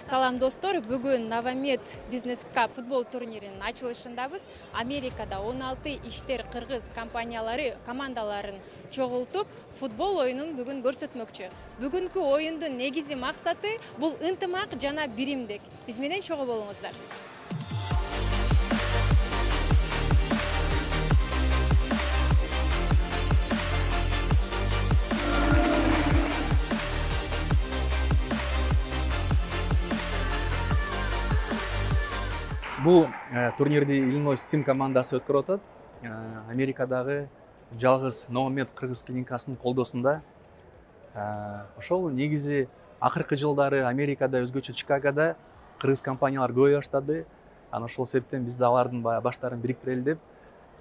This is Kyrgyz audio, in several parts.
Салам достор, бүгүн Новомед Бизнес Cup футбол турниринин ачылышындабыз. Америкада 16 иштер кыргыз компаниялары командаларын чогултуп, футбол оюнун бүгүн көрсөтмөкчү. Бүгүнкү оюндун негизи максаты бул ынтымак жана биримдик. Биз менен чогуу болуңуздар. Бул турнирди Illinois Steam командасы өткөрүп атат. Америкадагы жалгыз Новомед кыргыз клиникасынын колдосунда. Ошол негизи акыркы жылдары Америкада, өзгөчө Чикагода кыргыз компаниялар көбөйө баштады. Анан ошол себептен биз да алардын баштарын бириктирели деп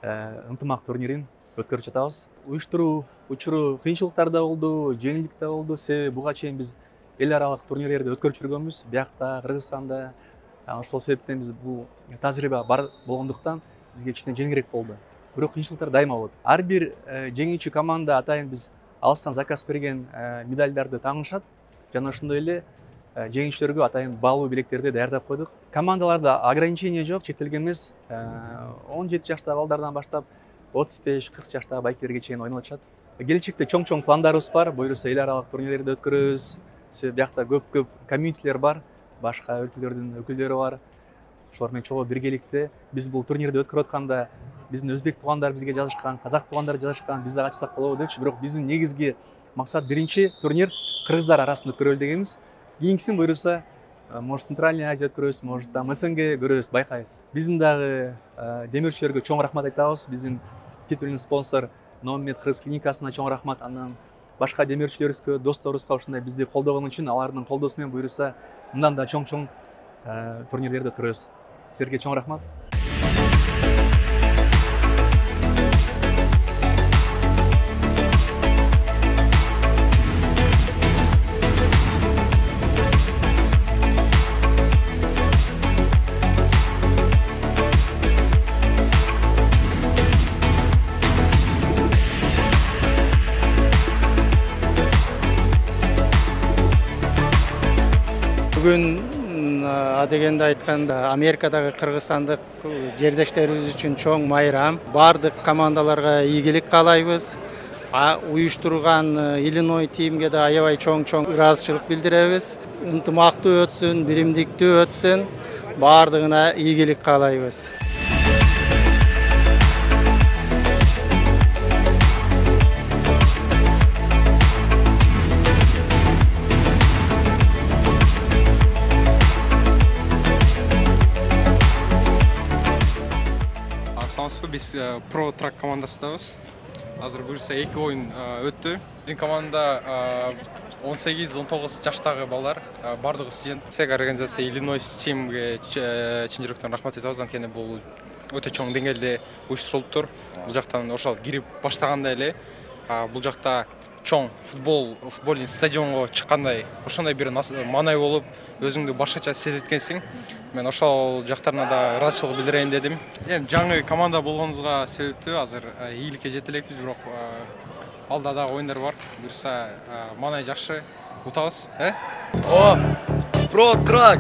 ынтымак турнирин өткөрүп жатабыз. Уюштуруу учуру кыйынчылыктар да болду, жеңилдик да болду. Себеби буга чейин биз эл аралык турнирлерди өткөрүп жүргөнбүз. Биякта, Кыргызстанда. Ошол себептен биз бул тажрыйба бар болгондуктан бизге кичине жеңилирээк болду. Бирок кыйынчылыктар дайыма болот. Ар бир жеңүүчү команда атайын биз алыстан заказ берген медальдарды таңышат. Жана ошондой эле жеңүүчүлөргө атайын баалуу билектерди даярдап койдук. Командаларда ограничение жок, чектелген эмес. 17 жаштагы балдардан баштап 35-40 жаштагы байкелерге чейин ойноп атышат. Келечекте чоң пландарыбыз бар. Буюрса эл аралык турнирлерди өткөрөбүз. Себеби биякта көп комьюнитилер бар. Башка өлкөлөрдүн өкүлдөрү бар. Ошолор менен чогуу биргеликте биз бул турнирди өткөрүп атканда биздин өзбек туугандар бизге жазышкан, казак туугандар жазышкан, биз да катышсак болобу депчи. Бирок биздин негизги максат биринчи турнир кыргыздар арасында өткөрөлү дегенбиз. Кийинкисин буюрса, может Центральная Азия өткөрөбүз, может там СНГ көрөбүз, байкайбыз. Биздин дагы демирчилерге чоң рахмат айтабыз. Биздин титулный спонсор Новомед кыргыз клиникасына чоң рахмат. Андан башка демирчилерибизге, досторубузга ушундай бизди колдогон үчүн алардын колдосу менен буюрса мындан да чоң турнирлерди өткөрөбүз. Силерге чоң рахмат. Бүгүн адегенде айтканда Америкадагы кыргызстандык жердештерибиз үчүн чоң майрам. Бардык командаларга ийгилик каалайбыз. Уюштурган Illinois тимге да аябай чоң ыраазычылык билдиребиз. Ынтымактуу өтсүн, биримдиктүү өтсүн. Бардыгына ийгилик каалайбыз. Биз Pro Track командасындабыз. Азыр буюрса 2 оюн өттү. Биздин команда 18-19 жаштагы балдар, бардыгы студент. Организация Illinois Steam'ге чын жүрөктөн рахмат айтабыз. Анткени бул өтө чоң деңгээлде уюштурулуптур. Бул жактан ошол кирип баштаганда эле бул жакта чоң футболдун стадионго чыккандай, ошондой бир маанай болуп, өзүңдү башкача сезеткенсиң. Мен ошол жактарына да ыраазычылык билдирейин дедим. Эми жаңы команда болгонубузга себептүү, азыр ийгиликке жете элекпиз, бирок алда дагы оюндар бар. Буюрса маанай жакшы, утабыз, О, Pro Track.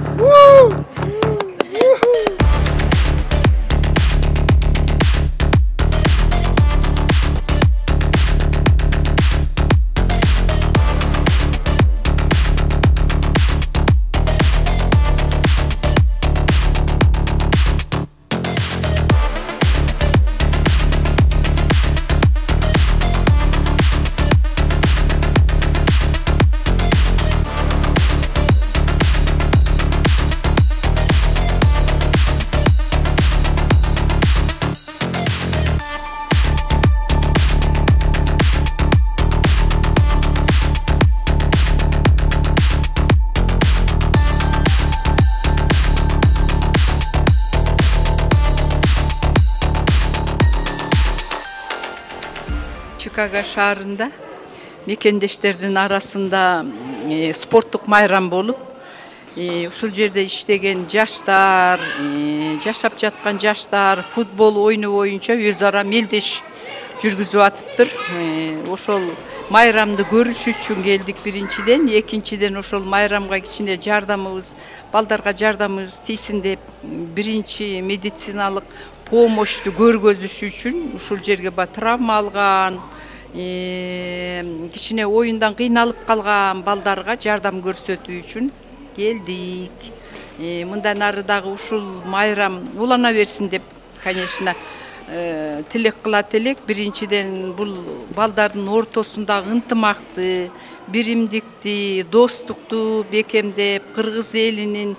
Чикаго шаарында мекендештердин арасында спорттук майрам болуп, ушул жерде иштеген жаштар, жашап жаткан жаштар футбол оюну боюнча өз ара мелдеш жүргүзүп атыптыр. Ошол майрамды көрүш үчүн келдик биринчиден, экинчиден ошол майрамга кичине жардамыбыз, балдарга жардамыбыз тийсин деп биринчи медициналык помощьту көргөзүш үчүн ушул жерге травма алган, кичине оюндан кыйналып калган балдарга жардам көрсөтүү үчүн келдик. Мындан ары дагы ушул майрам улана берсин деп, конечно, тилек кылат элек. Биринчиден бул балдардын ортосундагы ынтымакты, биримдикти, достукту бекемдеп, кыргыз элинин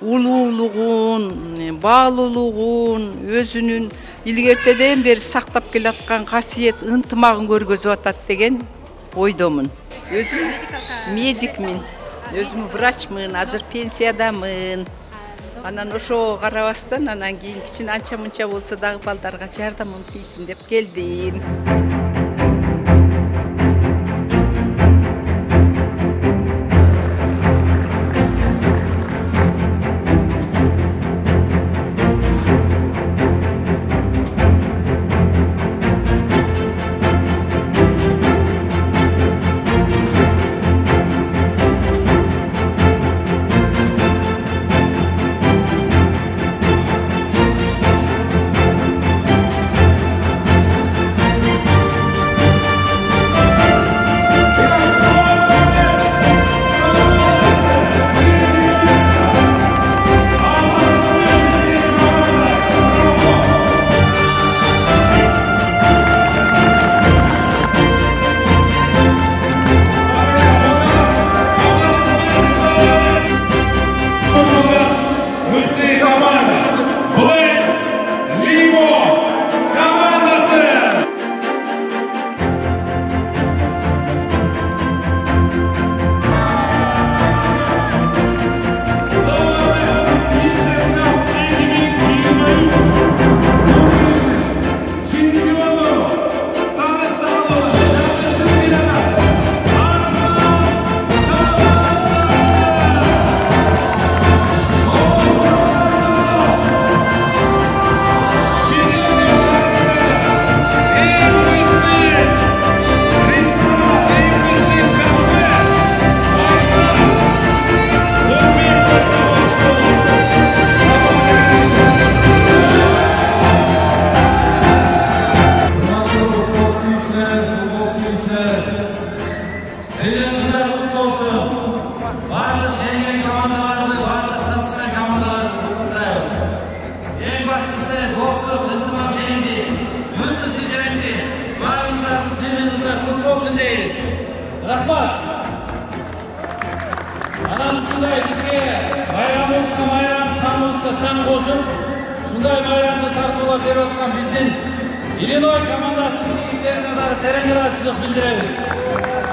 улуулугун, баалуулугун, өзүнүн илгертеден бери сактап келаткан касиет ынтымагын көргөзүп атат деген ойдомун. Өзүм медикмин, өзүм врачмын, азыр пенсиядамын. Анан ошого карабастан, анан кийин кичине анча мынча болсо дагы балдарга жардамым тийсин деп келдим. Рахмат. Анан ушундай бизге майрамыбызга майрам, шаңыбызга шаң кошуп, ушундай майрамды тартуулап берип аткан биздин Иллиной командасынын жигиттерине дагы терең ыраазычылык билдиребиз.